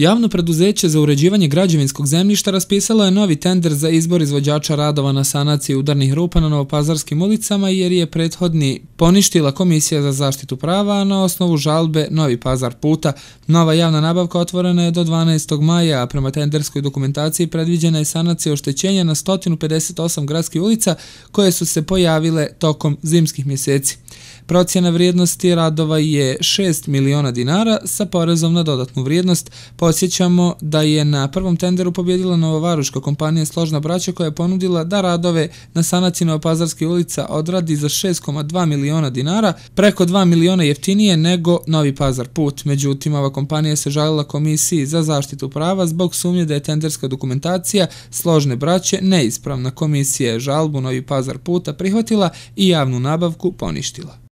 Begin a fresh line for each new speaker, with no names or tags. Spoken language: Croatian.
Javno preduzeće za uređivanje građevinskog zemljišta raspisalo je novi tender za izbor izvođača radova na sanaciji udarnih rupa na Novopazarskim ulicama jer je prethodni poništila Komisija za zaštitu prava, a na osnovu žalbe Novi Pazar puta. Nova javna nabavka otvorena je do 12. maja, a prema tenderskoj dokumentaciji predviđena je sanacija oštećenja na 158 gradskih ulica koje su se pojavile tokom zimskih mjeseci. Procjena vrijednosti radova je 6 miliona dinara sa porezom na dodatnu vrijednost. Podsjećamo da je na prvom tenderu pobjedila novovaroška kompanija Složna braća koja je ponudila da radove na sanaciji Novopazarskih ulica odradi za 6,2 miliona dinara, preko 2 miliona jeftinije nego Novi Pazar put. Međutim, ova kompanija se žalila Komisiji za zaštitu prava zbog sumnje da je tenderska dokumentacija Složne braće neispravna. Komisija je žalbu Novi Pazar puta prihvatila i javnu nabavku poništila.